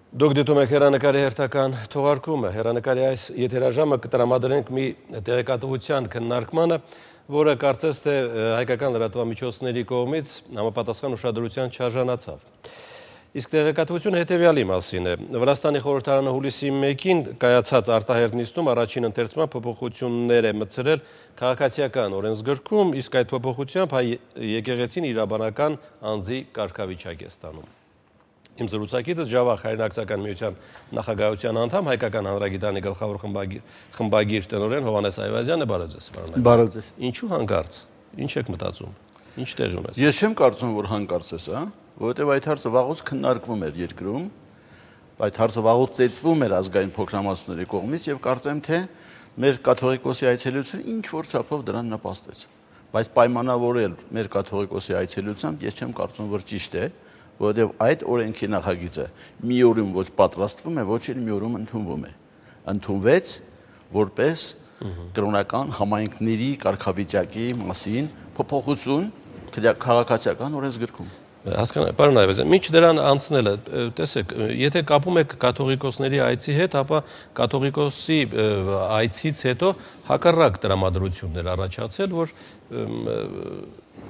Դուք դիտում եք հեռանկարի հերթական թողարկումը, հեռանկարի այս եթերաժամը կտրամադրենք մի տեղեկատվության քննարկմանը, որը կարծես թե հայկական լրատվամիջոցների կողմից համապատասխան ուշադրության չարժանացավ։ Իսկ տեղեկատվությունը հետևյալի մասին է։ Վրաստանի խորհրդարանը հուլիսի 1-ին կայացած արտահերթ նիստում առաջին ընթերցման փոփոխություններ է մտցրել քաղաքացիական օրենսգրքում, իսկ այդ փոփոխությամբ հայ եկեղեցին իրավաբանական անձի կարգավիճակ է ստանում։ Իմ զրուցակիցը Ջավախ հայրենակցական միության նախագահության անդամ, հայկական հանրագիտարանի գլխավոր խմբագիր տնօրեն Հովհաննես Այվազյանը, բարև ձեզ։ Բարև ձեզ։ Ինչու հանկարծ։ Ինչ եք մտածում։ Ինչ տեղի ունեցավ։ Ես չեմ կարծում, որ հանկարծ է սա, որովհետև այդ հարցը վաղուց քննարկվում էր երկրում, այդ հարցը վաղուց ծեծվում էր ազգային փոքրամասնությունների կողմից եւ կարծեմ թե մեր կաթողիկոսի այցելությունը ինչ որ չափով դրան նպաստեց։ Բայց պայմանավորել մեր կաթողիկոսի այցելությամբ ես չեմ կարծում, որ ճիշտ է, որովհետև այդ օրենքի նախագիծը մի օրում ոչ պատրաստվում է, ոչ էլ մի օրում ընդունվում է։ Ընդունվեց որպես կրոնական համայնքների կարգավիճակի մասին փոփոխություն քաղաքացիական օրենսգրքում։ Հասկանալի, պարոն Այվազյան, մինչ դրան անցնելը, տեսեք, եթե կապում եք կաթողիկոսների այցի հետ, ապա կաթողիկոսի այցից հետո հակառակ տրամադրություններ առաջացել, որ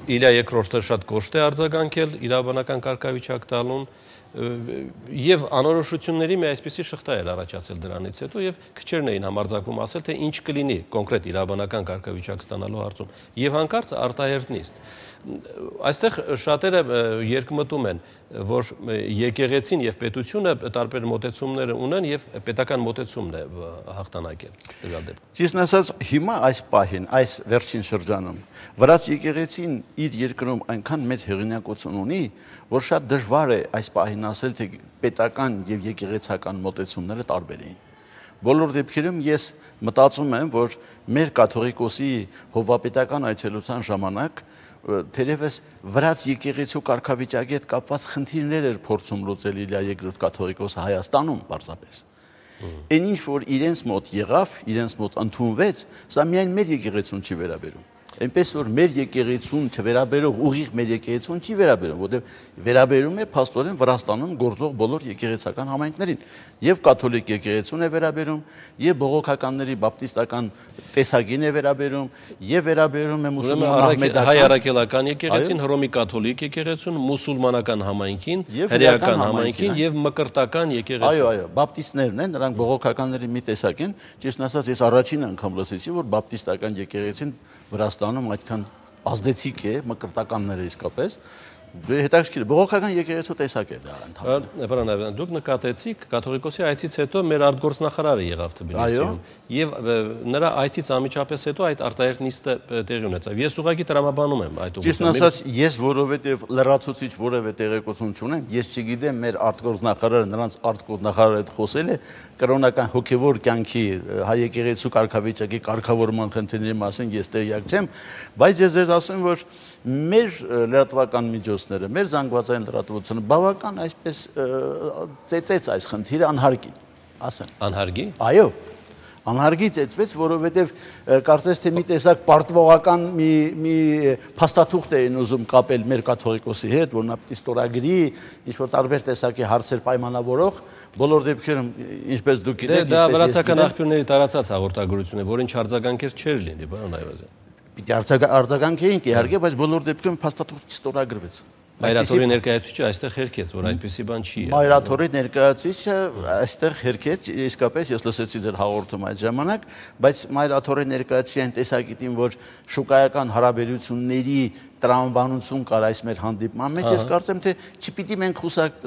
Իլիա երկրորդը շատ կոշտ է արձագանքել իրավաբանական կարգավիճակ տալուն եւ անորոշությունների մի այսպիսի շղթա էր առաջացել դրանից հետո եւ քչերն էին համարձակվում ասել թե ինչ կլինի կոնկրետ իրավաբանական կարգավիճակ ստանալու հարցում եւ հանկարծ արտահերթ նիստ այստեղ շատերը երկմտում են որ եկեղեցին եւ պետությունը տարբեր մոտեցումներ ունեն եւ պետական մոտեցումն է հաղթանակել տվյալ դեպքում։ Ճիշտն ասած հիմա այս պահին այս վերջին շրջանում վրաց եկեղեցին իր երկրում այնքան մեծ հեղինակություն ունի որ շատ դժվար է այս պահին ասել թե պետական եւ եկեղեցական մոտեցումները տարբեր էին։ Բոլոր դեպքերում ես մտածում եմ որ մեր կաթողիկոսի հովվապետական այցելության ժամանակ թերևս վրաց եկեղեցու կարգավիճակի հետ կապված խնդիրներ էր փորձում լուծել Իլիա երկրորդ կաթողիկոսը Հայաստանում պարզապես։ Այն ինչ որ իրենց մոտ եղավ, իրենց մոտ ընդունվեց, սա միայն մեր եկեղեցուն չի վերաբերում։ Այնպես որ մեր եկեղեցուն չվերաբերող ուղիղ մեր եկեղեցուն չի վերաբերում, որտեղ վերաբերում է փաստորեն Վրաստանում գործող բոլոր եկեղեցական համայնքներին։ Եվ կաթոլիկ եկեղեցուն է վերաբերում, եւ բողոքականների բապտիստական տեսակին է վերաբերում, եւ վերաբերում է մուսուլմանական հայ առաքելական եկեղեցին, հռոմի կաթոլիկ եկեղեցուն, մուսուլմանական համայնքին, հրեական համայնքին եւ մկրտական եկեղեցին։ Այո, բապտիստներն են, նրանք բողոքականների մի տեսակ են։ Ճիշտ ասած, ես առաջին անգամ լսեցի, որ բապտիստական եկեղեցին Վրաստանում այդքան ազդեցիկ է մկրտականները իսկապես հետաքրքիր բողոքական եկեղեցու տեսակ է դա ընդհանրապես։ Պարոն Այվազյան, դուք նկատեցիք կաթողիկոսի այցից հետո մեր արտգործնախարարը եղավ Թբիլիսիում եւ նրա այցից անմիջապես հետո այդ արտահերթ նիստը տեղի ունեցավ։ Ես ուղղակի տրամաբանում եմ այդ ուղղությամբ։ Ճիշտն ասած, ես որովհետեւ լրացուցիչ որևէ տեղեկություն չունեմ, ես չգիտեմ մեր արտգործնախարարը նրանց արտգործնախարարը հետ խոսել է կրոնական հոգեվոր կյանքի հայ եկեղեցու կարգավիճակի կարգավորման խնդիրների մասին ես տեղյակ չեմ, բայց ես ձեզ ասեմ, որ մեր լրատվական միջոցները, մեր զանգվածային լրատվությունը բավական այսպես ծեծեց այս խնդիրը անհարգի, ասեմ։ Անհարգի։ Այո, անհարգի ծեծվեց, որովհետև կարծես թե մի տեսակ պարտվողական մի փաստաթուղթ էին ուզում կապել մեր կաթողիկոսի հետ, որ նա պիտի ստորագրի, ինչ-որ տարբեր տեսակի հարցեր պայմանավորող, բոլոր դեպքերում, ինչպես դուք գիտեք, դա վրացական աղբյուրների տարածած հաղորդագրություն է, որին չարձագանքեր չէր լինի, պարոն Այվազյան։ Պիտի արձագանքեինք իհարկե, բայց բոլոր դեպքերում փաստաթուղթ չստորագրվեց։ Մայրաթորի ներկայացուցիչը այստեղ հերքեց, որ այդպիսի բան չի եղել։ Մայրաթորի ներկայացուցիչը այստեղ հերքեց, իսկապես ես լսեցի ձեր հաղորդումը այդ ժամանակ, բայց Մայրաթորի ներկայացուցիչը այն տեսակետին, որ շուկայական հարաբերությունների տրամաբանություն կար այս մեր հանդիպման մեջ, ես կարծեմ թե չպիտի մենք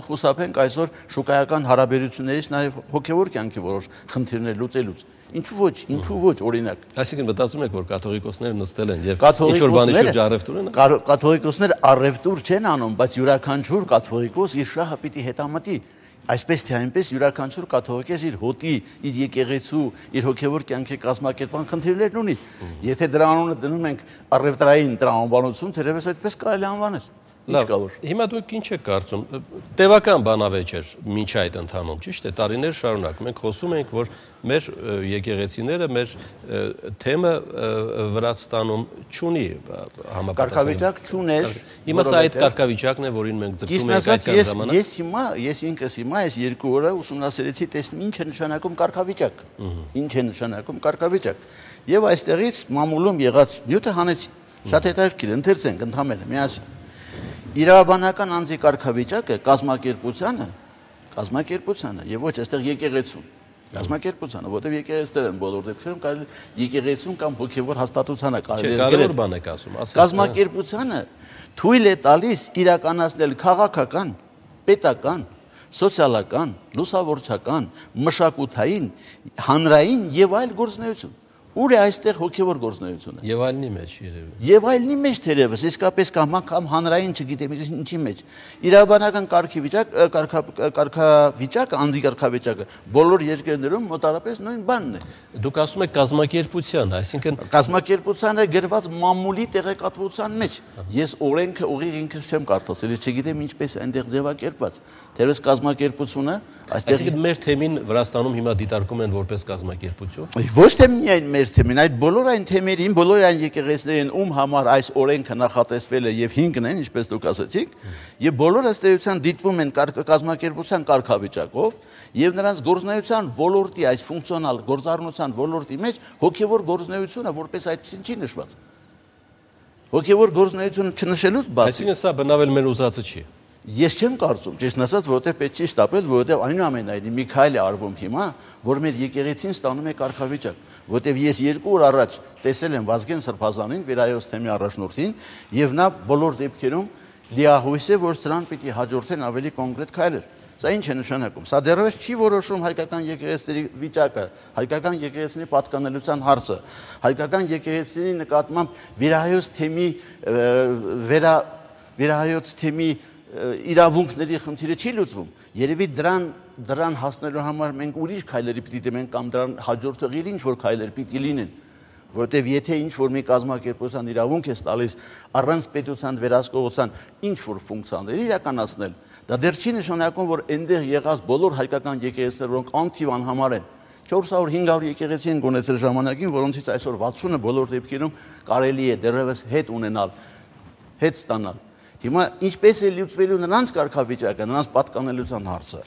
խուսափենք այսօր շուկայական հարաբերություններից նաև հոգևոր կյանքի որոշ խնդիրներ լուծելուց։ Ինչու ոչ, օրինակ։ Այսինքն մտածում եք, որ կաթողիկոսները նստել են եւ ինչ-որ բանի շուրջ առևտուր են։ Կաթողիկոսները առևտուր չեն անում, բայց յուրաքանչյուր կաթողիկոս իր շահը պիտի հետամտի։ Այսպես թե այնպես յուրաքանչյուր կաթողիկոս իր հոտի, իր եկեղեցու, իր հոգևոր կյանքի կազմակերպման խնդիրներն ունի։ Եթե դրա անունը դնում ենք առևտրային տրամաբանություն, թերևս այդպես կարելի անվանել։ Ինչ կա որ։ Հիմա դուք ինչ եք կարծում։ Տևական բանավեճ էր մինչ այդ ընթանում, ճիշտ է, տարիներ շարունակ։ Մենք խոսում ենք, որ մեր եկեղեցիները մեր թեմը Վրաստանում չունի համապատասխան։ Կարգավիճակ չուներ։ Հիմա սա այդ կարգավիճակն է, որին մենք ձգտում ենք այդ ժամանակ։ Ես ինքս հիմա այս 2 օրը ուսումնասիրեցի, տեսնում ինչ է նշանակում կարգավիճակ։ Ինչ է նշանակում կարգավիճակ։ Եվ այստեղից մամուլում եղած նյութը հանեցի։ Շատ հետաքրքիր, ընթերցենք ընդհանրապես միասին։ Իրավաբանական անձի կարգավիճակը կազմակերպությանը եւ ոչ այստեղ եկեղեցուն։ Կազմակերպությանը, որտեղ եկեղեցիներ են բոլոր դեպքերում կարելի եկեղեցուն կամ հոգեվոր հաստատությանը կարելի է կարևոր բան եք ասում, կազմակերպությանը թույլ է տալիս իրականացնել քաղաքական, պետական, սոցիալական, լուսավորչական, մշակութային, հանրային եւ այլ գործունեություն։ Ուր է այստեղ հոգևոր գործունեությունը։ Եվ այլնի մեջ երևի։ Եվ այլնի մեջ թերևս, իսկապես կամ հանրային, չգիտեմ ինչի մեջ։ Իրավաբանական կարգավիճակը, անձի կարգավիճակը բոլոր երկրներում մոտարապես նույն բանն է։ Դուք ասում եք կազմակերպության, այսինքն կազմակերպությանը գրված մամուլի տեղեկատվության մեջ։ Ես օրենքը ուղիղ ինքս չեմ կարդացել, չգիտեմ ինչպես այնտեղ ձևակերպված։ Թերևս կազմակերպությունը այստեղ այսինքն մեր թեմին Վրաստանում հիմա դիտարկում են որպես կազմակերպություն։ Ոչ թե միայն մեր թեմին, այդ բոլոր այն թեմերին, բոլոր այն եկեղեցիներին, ում համար այս օրենքը նախատեսվել է եւ 5-ն են, ինչպես դուք ասացիք, եւ բոլորը ըստ էության դիտվում են կազմակերպության կարգավիճակով եւ նրանց գործունեության ոլորտի, այս ֆունկցիոնալ գործառնության ոլորտի մեջ հոգեվոր գործունեությունը որպես այդպեսին չի նշված։ Հոգեվոր գործունեությունը չնշելուց բացի։ Այսինքն սա բնավել մեր ուզածը չի։ Ես չեմ կարծում, ճիշտ ասած, որովհետև պետք չի շտապել, որովհետև այնուամենայնիվ մի քայլ է արվում հիմա, որ մեր եկեղեցին ստանում է կարգավիճակ, որովհետև ես 2 օր առաջ տեսել եմ Վազգեն Սրբազանին, Վերայոց թեմի առաջնորդին, եւ նա բոլոր դեպքերում լիահույս է, որ սրան պիտի հաջորդեն ավելի կոնկրետ քայլեր։ Սա ինչ է նշանակում։ Սա դեռևս չի որոշում հայկական եկեղեցիների վիճակը, հայկական եկեղեցիների պատկանելիության հարցը, հայկական եկեղեցիների նկատմամբ վերահայոց թեմի իրավունքների խնդիրը չի լուծվում։ Երևի դրան հասնելու համար մենք ուրիշ քայլերի պիտի դիմենք կամ դրան հաջորդող ինչ-որ քայլեր պիտի լինեն, որովհետև եթե ինչ-որ մի կազմակերպության իրավունք է տալիս առանց պետության վերահսկողության ինչ-որ ֆունկցիաներ իրականացնել, դա դեռ չի նշանակում, որ այնտեղ եղած բոլոր հայկական եկեղեցիները, որոնք անթիվ անհամար են, 400-500 եկեղեցի են գոնեցել ժամանակին, որոնցից այսօր 60-ը բոլոր դեպքերում կարելի է դեռևս հետ ստանալ։ Հիմա ինչպես է լուծվելու նրանց կարգավիճակը, նրանց պատկանելիության հարցը։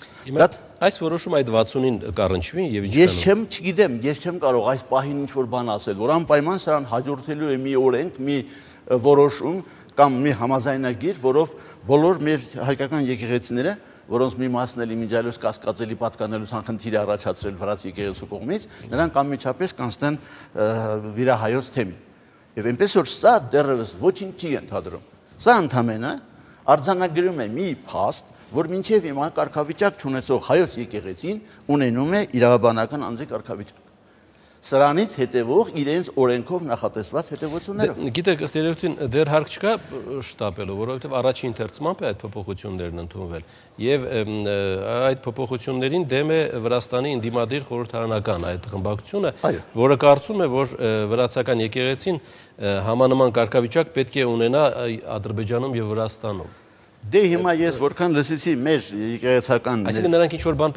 Այս որոշումը այդ 60-ին կառնչվի եւ ինչ Ես չգիտեմ, ես չեմ կարող այս պահին ինչ-որ բան ասել, որ անպայման սրան հաջորդելու է մի օրենք, մի որոշում կամ մի համաձայնագիր, որով բոլոր մեր հայկական եկեղեցիները, որոնց մի մասն էլ իմիջիայլոց կասկածելի պատկանելիության խնդիր է առաջացրել վրաց եկեղեցու կողմից, նրանք անմիջապես կանցնեն վիրահայոց թեմին։ Եվ այնպես որ սա դեռևս ոչինչ չի ընդհանրում։ Սա ընդհանրապես արձանագրում է մի փաստ, որ մինչև հիմա կարգավիճակ չունեցող հայոց եկեղեցին ունենում է իրավաբանական անձի կարգավիճակ։ Սրանից հետևող իրենց օրենքով նախատեսված հետևություններով։ Գիտեք, ըստ երևույթին դեռ հարկ չկա շտապելու, որովհետև առաջին ընթերցմամբ է այդ փոփոխություններն ընդունվել եւ այդ փոփոխություններին դեմ է Վրաստանի ընդդիմադիր խորհրդարանական այդ խմբակցությունը, որը կարծում է, որ վրացական եկեղեցին համանման կարգավիճակ պետք է ունենա Ադրբեջանում եւ Վրաստանում։ Դե հիմա ես որքան լսեցի մեր եկեղեցական Այսինքն նրանք ինչ-որ բան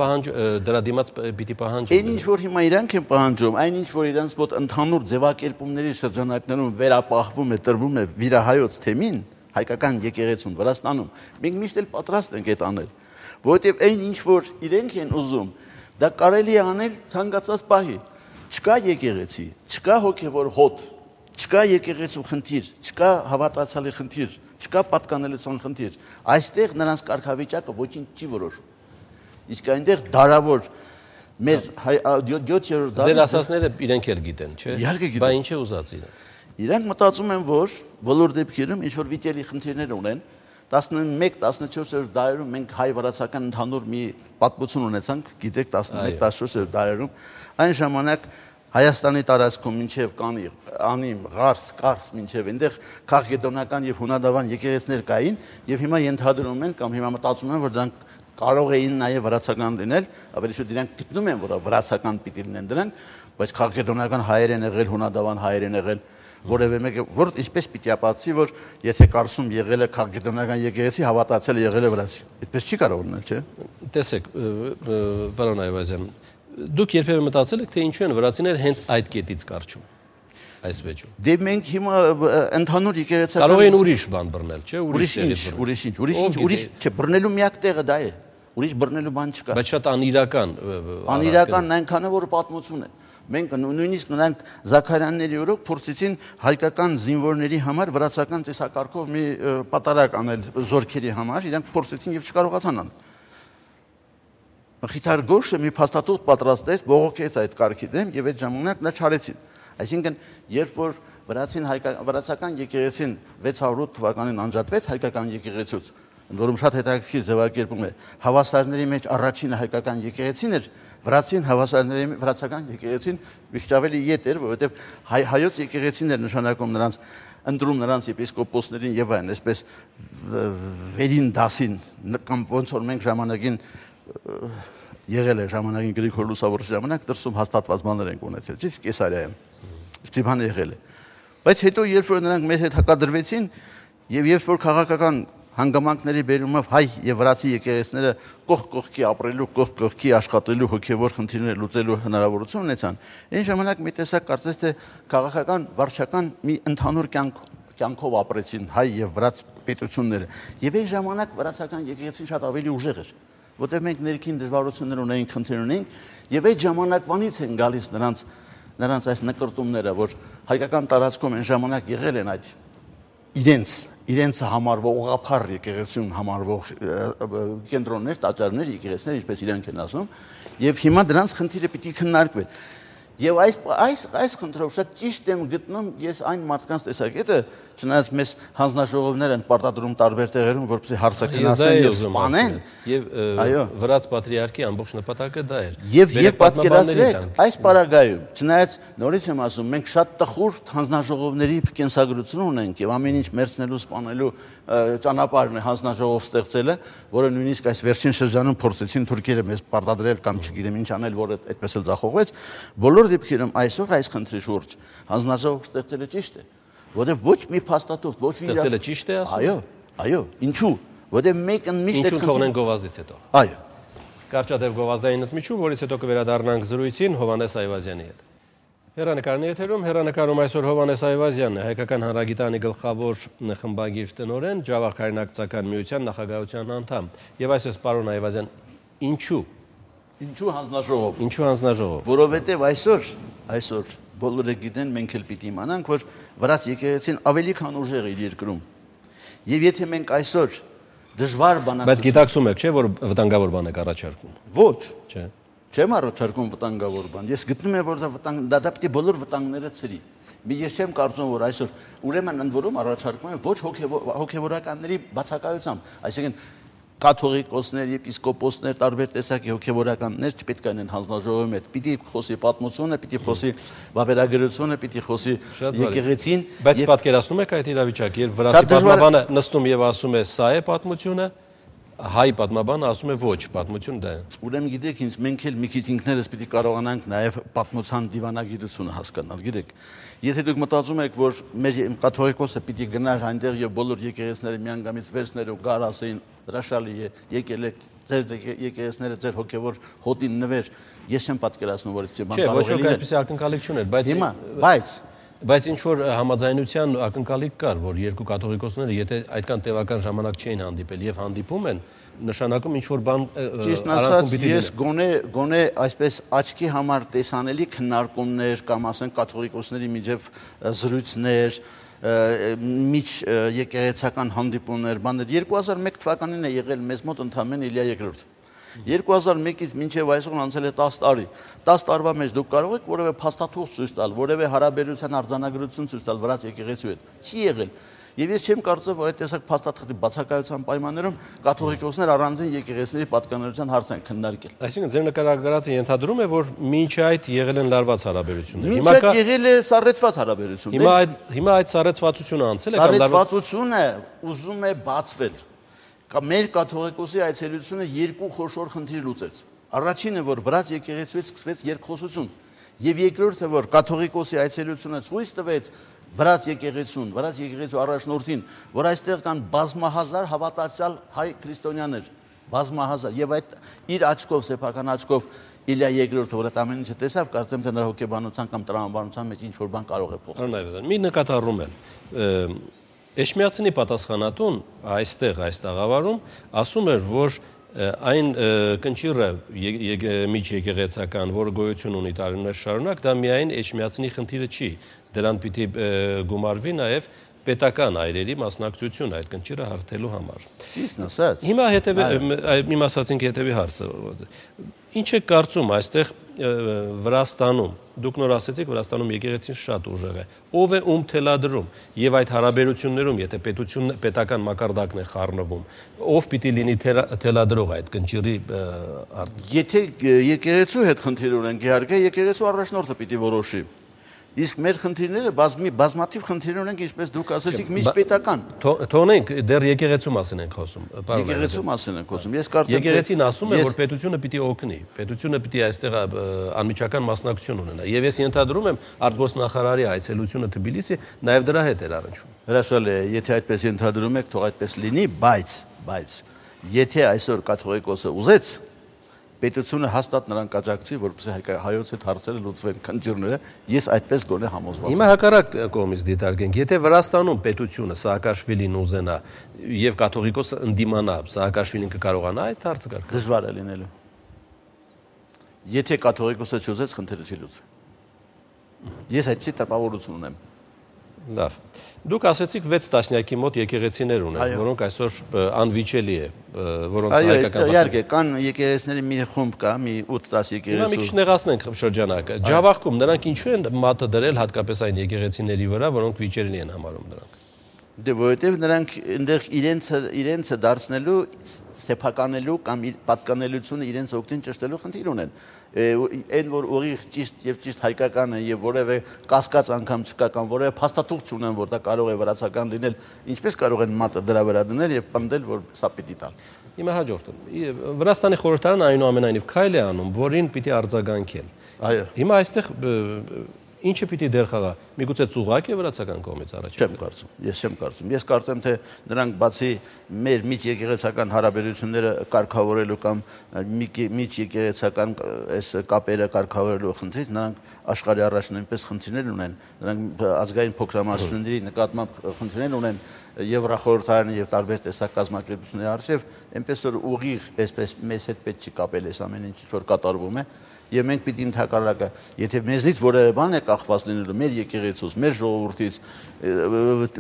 դրա դիմաց պիտի պահանջեն։ Այն ինչ-որ հիմա իրանք են պահանջում, այն ինչ-որ իրանց մոտ ընդհանուր ձևակերպումների շրջանակներում վերապահվում է, տրվում է վիրահայոց թեմին, հայկական եկեղեցուն Վրաստանում, մենք միշտ էլ պատրաստ ենք այդ անել, որովհետև այն ինչ-որ իրենք են ուզում, դա կարելի է անել ցանկացած պահի։ Չկա եկեղեցի, չկա հոգևոր հոտ, չկա եկեղեցու խնդիր, չկա հավատացյալի խնդիր, չկա պատկանելիության խնդիր։ Այստեղ նրանց կարգավիճակը ոչինչ չի որոշում։ Իսկ այնտեղ դարավոր մեր 7-րդ դարի Ձեր ասածները իրենք էլ գիտեն, չէ՞։ Իհարկե գիտեն։ Բա ինչ է ուզած իրենց։ Իրանք մտածում են, որ բոլոր դեպքերում ինչ որ վիճելի խնդիրներ ունեն, 11-14-րդ դարերում մենք հայ-վրացական ընդհանուր մի պատմություն ունեցանք, գիտեք 11-14-րդ դարերում, այն ժամանակ Հայաստանի տարածքում մինչև Անիմ, Ղարս, Կարս մինչև այնտեղ քաղաքգետոնական եւ հունադավան եկեղեցիներ կային եւ հիմա ենթադրում են կամ հիմա մտածում են, որ դրանք կարող էին նաեւ վրացական լինել, ավելի շուտ իրանք գտնում են, որ վրացական պիտի լինեն դրանք, բայց քաղաքգետոնական հայեր են եղել, հունադավան հայեր են եղել, որևէ մեկը, որ ինչպես պիտի ապացուցի, որ եթե կարծում եղել է քաղաքագիտական եկեղեցի, հավատացել է եղել է վրացի։ Այդպես չի կարող լինել, չէ՞։ Տեսեք, պարոն Այվազյան, դուք երբևէ մտածել եք, թե ինչու են վրացիները հենց այդ կետից կարճում այս վեճում։ Դե մենք հիմա ընդհանուր եկեղեցական կարող են ուրիշ բան բռնել, չէ՞, ուրիշ, չէ, բռնելու միակ տեղը դա է։ Ուրիշ բռնելու բան չկա։ Բայց շատ անիրական։ Անիրականն այնքան է, որ պատմություն է։ Մենք նույնիսկ նրանք Զաքարյանների օրոք փորձեցին հայկական զինվորների համար վրացական ծիսակարգով մի պատարակ անել զորքերի համար, իրենք փորձեցին եւ չկարողացան անել։ Մխիթար Գոշը մի փաստաթուղթ պատրաստեց, բողոքեց այդ կարգի դեմ եւ այդ ժամանակ նա չարեցին։ Այսինքն, երբ որ վրացական եկեղեցին 608 թվականին անջատվեց հայկական եկեղեցուց, ընդ որում շատ հետաքրքիր ձևակերպում է, հավասարների մեջ առաջինը հայկական եկեղեցին էր, վրացական եկեղեցին միշտ ավելի ետ էր, որովհետև հայոց եկեղեցին էր նշանակում նրանց ընտրում նրանց եպիսկոպոսներին եւ այլն, այսպես վերին դասին կամ ոնց որ մենք ժամանակին եղել է ժամանակին Գրիգոր Լուսավորի ժամանակ դրսում հաստատված բաներ են ունեցել, ճիշտ Կեսարիայում։ Իսկ բան եղել է։ Բայց հետո երբ որ նրանք մեզ հետ հակադրվեցին եւ երբ որ քաղաքական հանգամանքների բերումով հայ եւ վրացի եկեղեցիները կողքի ապրելու, կողքի աշխատելու հոգեվոր խնդիրներ լուծելու հնարավորություն ունեցան, այն ժամանակ մի տեսակ կարծես թե քաղաքական վարչական մի ընդհանուր կյանքով ապրեցին հայ եւ վրաց պետությունները։ Եվ այն ժամանակ վրացական եկեղեցին շատ ավելի ուժեղ էր, որտեղ մենք ներքին դժվարություններ ունեինք, խնդիրներ ունեինք, եւ այդ ժամանակվանից են գալիս նրանց այս նկարտումները, որ հայկական տարածքում այն ժամանակ եղել են այդ իրենց համարվող ուղղափառ եկեղեցուն համարվող կենտրոններ, տաճարներ, եկեղեցիներ, ինչպես իրենք են ասում, եւ հիմա դրանց խնդիրը պիտի քննարկվեն։ Եվ այս խնդրով շատ ճիշտ եմ գտնում ես այն մարդկանց տեսակետը, չնայած մեզ հանձնաժողովներ են պարտադրում տարբեր տեղերում, որպեսզի հարցաքննասեն եւ սպանեն, եւ վրաց պատրիարքի ամբողջ նպատակը դա էր։ Եվ պատկերացրեք, այս պարագայում, չնայած նորից եմ ասում, մենք շատ տխուր հանձնաժողովների կենսագրություն ունենք եւ ամեն ինչ մերցնելու, սպանելու ճանապարհն է հանձնաժողով ստեղծելը, որը նույնիսկ այս վերջին շրջանում փորձեցին թուրքերը մեզ պարտադրել կամ չգիտեմ ինչ անել, որը այդպես էլ ձախողվեց, բոլոր դեպքերում այսօր այս խնդրի շուրջ հանձնաժողով ստեղծելը ճիշտ է, որտեղ ոչ մի փաստաթուղթ, ոչ մի ստեղծելը ճիշտ է ասում։ Այո, ինչու՞, որտեղ մեկը միշտ ինչու թողնեն գովազդից հետո։ Այո։ Կարճատև գովազդային ընդմիջում, որից հետո կվերադառնանք զրույցին Հովհաննես Այվազյանի հետ։ Հեռանկարն եթերում, հեռանկարում այսօր Հովհաննես Այվազյանն է, Հայկական հանրագիտանի գլխավոր խմբագիր տնօրեն, Ջավախ հայրենակցական միության նախագահության անդամ։ Եվ այսպես պարոն Այվազյան, ինչու հանձնաժողով։ Ինչու հանձնաժողով։ Որովհետև այսօր բոլորը գիտեն, մենք էլ պիտի իմանանք, որ վրաց եկեղեցին ավելի քան ուժեղ է իր երկրում։ Եվ եթե մենք այսօր դժվար բանակցություն։ Բայց գիտակցում եք, չէ՞, որ վտանգավոր բան եք առաջարկում։ Ոչ։ Չէ։ Չեմ առաջարկում վտանգավոր բան։ Ես գտնում եմ, որ դա պիտի բոլոր վտանգները ցրի։ Ես չեմ կարծում, որ այսօր ուրեմն ընդ որում առաջարկում եմ ոչ հոգևորականների բացակայությամբ, այսինքն կաթողիկոսներ, եպիսկոպոսներ, տարբեր տեսակի հոգևորականներ չպետք է լինեն հանձնաժողովի մեջ։ Պիտի խոսի պատմությունը, պիտի խոսի վավերագրությունը, պիտի խոսի եկեղեցին։ Բայց պատկերացնում եք այդ իրավիճակը, երբ վրացի պատմաբանը նստում եւ ասում է՝ «Սա է պատմությունը», հայ պատմաբանը ասում է ոչ, պատմություն դա է։ Ուրեմն գիտեք ինչ, մենք էլ մի քիչ ինքներս պիտի կարողանանք նաև պատմության դիվանագիտությունը հասկանալ, գիտեք։ Եթե դուք մտածում եք, որ մեր կաթողիկոսը պիտի գնար այնտեղ եւ բոլոր եկեղեցիները միանգամից վերցներ ու գար ասեին հրաշալի է, եկել եք ձեր եկեղեցիները ձեր հոգեվոր հոտին նվեր, ես չեմ պատկերացնում, որ այդպես բան կարող է լինել։ Չէ, ոչ ոք այդպես ակնկալիք չուներ, բայց ինչ որ համաձայնության ակնկալիք կար, որ երկու կաթողիկոսները եթե այդքան տևական ժամանակ չէին հանդիպել եւ հանդիպում են, նշանակում ինչ որ բան արանքում պիտի լինի։ Ես գոնե այսպես աչքի համար տեսանելի քննարկումներ կամ ասենք կաթողիկոսների միջև զրույցներ, միջ եկեղեցական հանդիպումներ, բաներ 2001 թվականին է եղել մեզ մոտ ընդամենը Իլիա II 2001-ից մինչև այսօր անցել է 10 տարի։ 10 տարվա մեջ դուք կարող եք որևէ փաստաթուղթ ցույց տալ, որևէ հարաբերության արձանագրություն ցույց տալ վրաց եկեղեցու հետ։ Չի եղել։ Եվ ես չեմ կարծում, որ այդ տեսակ փաստաթղթի բացակայության պայմաններում կաթողիկոսներ առանձին եկեղեցիների պատկանելիության հարց են քննարկել։ Այսինքն ձեր նկարագրածը ենթադրում է, որ մինչ այդ եղել են լարված հարաբերություններ։ Հիմա կա եղել է սառեցված հարաբերություններ։ Հիմա այդ սառեցվածությունը անցել է կամ սառեցվածությունը ուզում է բացվել։ Մեր կաթողիկոսի այցելությունը երկու խոշոր խնդիր լուծեց։ Առաջինը, որ վրաց եկեղեցուից սկսվեց երկխոսություն, եւ երկրորդը, որ կաթողիկոսի այցելությունը ցույց տվեց վրաց եկեղեցու առաջնորդին, որ այստեղ կան բազմահազար հավատացյալ հայ քրիստոնյաներ, բազմահազար, եւ այդ իր աչքով, սեփական աչքով Իլիա II-ը, որ այդ ամեն ինչը տեսավ, կարծեմ թե նրա հոգեբանության կամ տրամաբանության մեջ ինչ որ բան կարող է փոխել։ Մի նկատառում եմ։ Էշմիածնի պատասխանատուն այստեղ այս տաղավարում ասում էր, որ այն կնճիռը միջ եկեղեցական, որը գոյություն ունի տարիներ շարունակ, դա միայն Էշմիածնի խնդիրը չի, դրան պիտի գումարվի նաև պետական այրերի մասնակցություն այդ կնճիռը հարթելու համար։ Ճիշտ ասած։ Հիմա իմ ասածինք հետևի հարցը։ Ինչ է կարծում այստեղ Վրաստանում, դուք նոր ասեցիք, Վրաստանում եկեղեցին շատ ուժեղ է, ով է ում թելադրում եւ այդ հարաբերություններում, եթե պետական մակարդակն է խառնվում, ով պիտի լինի թելադրող այդ կնճիռի Եթե եկեղեցու հետ խնդիր ունենք, իհարկե եկեղեցու առաջնորդը պիտի որոշի։ Իսկ մեր խնդիրները բազմաթիվ խնդիրներ ունենք, ինչպես դուք ասացիք, միջպետական։ Թողնենք, դեռ եկեղեցու մասին ենք խոսում։ Եկեղեցու մասին ենք խոսում։ Ես կարծեմ, եկեղեցին ասում է, որ պետությունը պիտի օգնի, պետությունը պիտի այստեղ անմիջական մասնակցություն ունենա։ Եվ ես ենթադրում եմ արտգործնախարարի այցելությունը Թբիլիսի նաև դրա հետ էր առնչվում։ Հրաշալի է, եթե այդպես ենթադրում եք, թող այդպես լինի, բայց եթե այսօր կաթողիկոսը ուզեց, պետությունը հաստատ նրան կաջակցի, որպեսզի հայոց այդ հարցերը լուծվեն քննիչները, ես այդպես գոնե համոզված եմ։ Հիմա հակառակ կողմից դիտարկենք, եթե Վրաստանում պետությունը Սաակաշվիլին ուզենա եւ կաթողիկոսը ընդդիմանա, Սաակաշվիլին կկարողանա այդ հարցը կարգել։ Դժվար է լինելու։ Եթե կաթողիկոսը չուզեց, խնդիրը չի լուծվի։ Ես այդպիսի տպավորություն ունեմ։ Լավ։ Դուք ասեցիք 6 տասնյակի մոտ եկեղեցիներ ունեն, որոնք այսօր անվիճելի է, որոնց հայկական Այո, իհարկե, կան եկեղեցիների մի խումբ կա, մի 8-10 եկեղեցու։ Հիմա մի քիչ նեղացնենք շրջանակը։ Ջավախքում նրանք ինչու են մատը դրել հատկապես այն եկեղեցիների վրա, որոնք վիճելի են համարում դրանք։ Դե որովհետև նրանք այնտեղ իրենցը դարձնելու, սեփականելու կամ պատկանելությունը իրենց օգտին ճշտելու խնդիր ունեն։ Այն որ ուղիղ ճիշտ հայկական է եւ որևէ կասկած անգամ չկա կամ որևէ փաստաթուղթ չունեն, որ դա կարող է վրացական լինել, ինչպես կարող են մատը դրա վրա դնել եւ պնդել, որ սա պիտի տալ։ Հիմա հաջորդը։ Վրաստանի խորհրդարանը այնուամենայնիվ քայլ է անում, որին պիտի արձագանքել։ Այո։ Հիմա այստեղ ինչը պիտի դեր խաղա։ Միգուցե ծուղակ է վրացական կողմից առաջ։ Ես չեմ կարծում։ Ես կարծեմ, թե նրանք բացի մեր միջեկեղեցական հարաբերությունները կարգավորելու կամ միջեկեղեցական այս կապերը կարգավորելու խնդրից, նրանք աշխարհի առաջ նույնպես խնդիրներ ունեն։ Նրանք ազգային փոքրամասնությունների նկատմամբ խնդիրներ ունեն Եվրախորհրդարանի եւ տարբեր տեսակ կազմակերպությունների արժեվ, այնպես որ ուղիղ այսպես մեզ հետ պետք չի կապել այս ամեն ինչ, որ կատարվում է։ Եվ մենք պիտի ընդհակառակը, եթե մեզնից որևէ բան է կախված լինելու մեր եկեղեցուց, մեր ժողովրդից,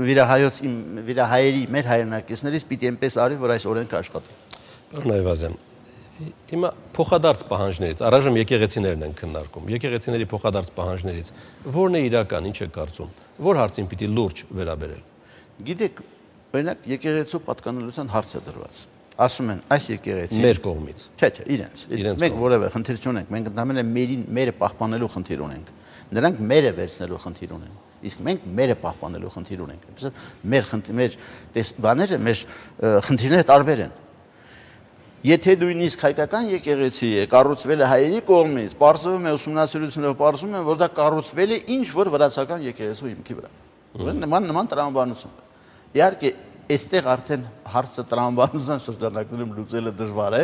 վիրահայերի, մեր հայրենակիցներից պիտի այնպես արի, որ այս օրենքը աշխատի։ Պարոն Այվազյան, հիմա փոխադարձ պահանջներից, առայժմ եկեղեցիներն են քննարկում, եկեղեցիների փոխադարձ պահանջներից, ո՞րն է իրական, ինչ է կարծում, ո՞ր հարցին պիտի լուրջ վերաբերել։ Գիտեք, օրինակ եկեղեցու պատկանելության հարց է դրված։ Ասում են այս եկեղեցին մեր կողմից։ Չէ, իրենց։ Մենք որևէ խնդիր չունենք, մենք ընդհանրապես մերը պահպանելու խնդիր ունենք։ Նրանք մերը վերցնելու խնդիր ունեն։ Իսկ մենք մերը պահպանելու խնդիր ունենք։ Այսինքն մեր բաները, մեր խնդիրները տարբեր են։ Եթե նույնիսկ հայկական եկեղեցի է կառուցվել է հայերի կողմից, պարզվում է ուսումնասիրությունով պարզվում է, որ դա կառուցվել է ինչ որ վրացական եկեղեցու հիմքի վրա։ Նման տրամաբանություն։ Իհարկե Այստեղ արդեն հարցը տրամաբանության շրջանակներում լուծելը դժվար է,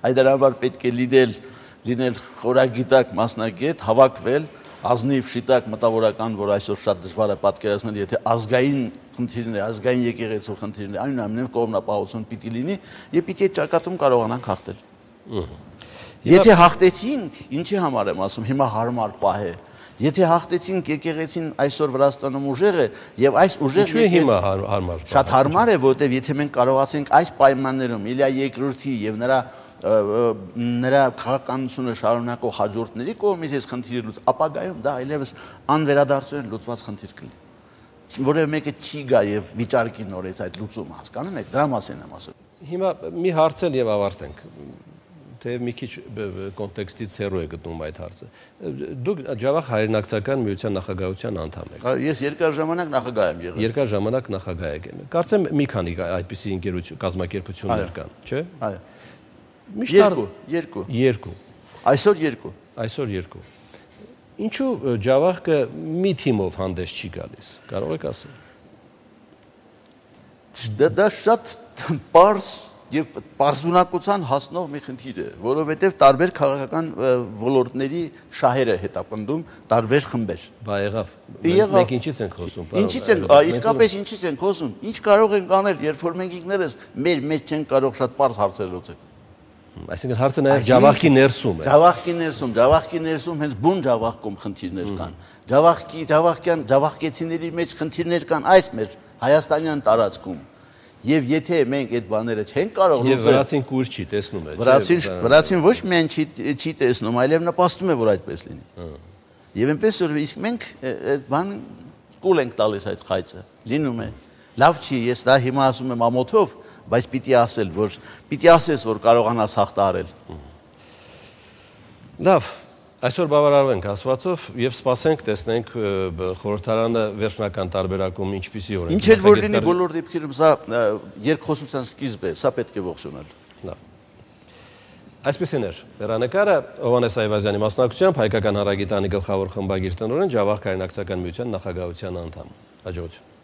այդ համար պետք է լինել խորագիտակ մասնագետ, հավաքվել, ազնիվ շիտակ մտավորական, որ այսօր շատ դժվար է պատկերացնել, եթե ազգային խնդիրներ, ազգային եկեղեցու խնդիրներ, այնուամենայնիվ կողմնապահություն պիտի լինի, եւ պիտի այդ ճակատում կարողանանք հաղթել։ Եթե հաղթեցինք, ինչի համար եմ ասում, հիմա հարմար պահ է։ Եթե հաղթեցինք եկեղեցին այսօր Վրաստանում ուժեղ է եւ այս ուժեղ հիմա հարմար։ Շատ հարմար է, որովհետեւ եթե մենք կարողացենք այս պայմաններում Իլիա II-ի եւ նրա քաղաքականությունը շարունակող հաջորդների կողմից այս խնդիրը լուծ, ապագայում դա այլևս անվերադարձորեն լուծված խնդիր կլինի։ Որևէ մեկը չի գա եւ վիճարկի նորից այդ լուծումը, հասկանում եք, դրա մասին եմ ասում։ Հիմա մի հարցել եւ ավարտենք։ Թեև մի քիչ կոնտեքստից հեռու է գտնում այդ հարցը։ Դուք Ջավախ հայրենակցական միության նախագահության անդամ եք։ Ես երկար ժամանակ նախագահ եմ եղել։ Երկար ժամանակ նախագահ եք։ Կարծեմ մի քանի այդպիսի ընկերություն կազմակերպություններ կան, չէ՞։ Այո։ Միշտ երկու։ Երկու։ Այսօր երկու։ Այսօր երկու։ Ինչու Ջավախքը մի թիմով հանդես չի գալիս, կարող եք ասել։ Դա շատ պարզ եւ պարզունակության հասնող մի խնդիր է, որովհետեւ տարբեր քաղաքական ոլորտների շահերը հետապնդում տարբեր խմբեր։ Բա եղավ։ Մենք ինչից ենք խոսում։ Ինչից են, իսկապես ինչից ենք խոսում։ Ինչ կարող ենք անել, երբ որ մենք ինքներս մեր մեջ չենք կարող շատ պարզ հարցեր լուծել։ Այսինքն հարցը նաեւ Ջավախքի ներսում է։ Ջավախքի ներսում հենց բուն Ջավախքում խնդիրներ կան։ Ջավախկեցիների մեջ խնդիրներ կան այս մեր հայաստանյան տարածքում։ Եվ եթե մենք այդ բաները չենք կարող լուծել, եւ վրացին կուր չի տեսնում է, վրացին ոչ միայն չի տեսնում, այլև նպաստում է, որ այդպես լինի։ Եվ այնպես որ իսկ մենք այդ բան կուլ ենք տալիս այդ խայծը, լինում է։ Լավ չի, ես դա հիմա ասում եմ ամոթով, բայց պիտի ասես, որ կարողանաս հաղթահարել։ Լավ, այսօր բավարարվենք ասվածով եւ սպասենք տեսնենք խորհրդարանը վերջնական տարբերակում ինչպիսի օրենք։ Ինչ էլ որ լինի բոլոր դեպքերում սա երկխոսության սկիզբ է, սա պետք է ողջունել։ Լավ։ Այսպեսին էր հեռանկարը Հովհաննես Այվազյանի մասնակցությամբ Հայկական հանրագիտանի գլխավոր խմբագիր տնօրեն Ջավախք հայրենակցական միության նախագահության անդամ։ Հաջողություն։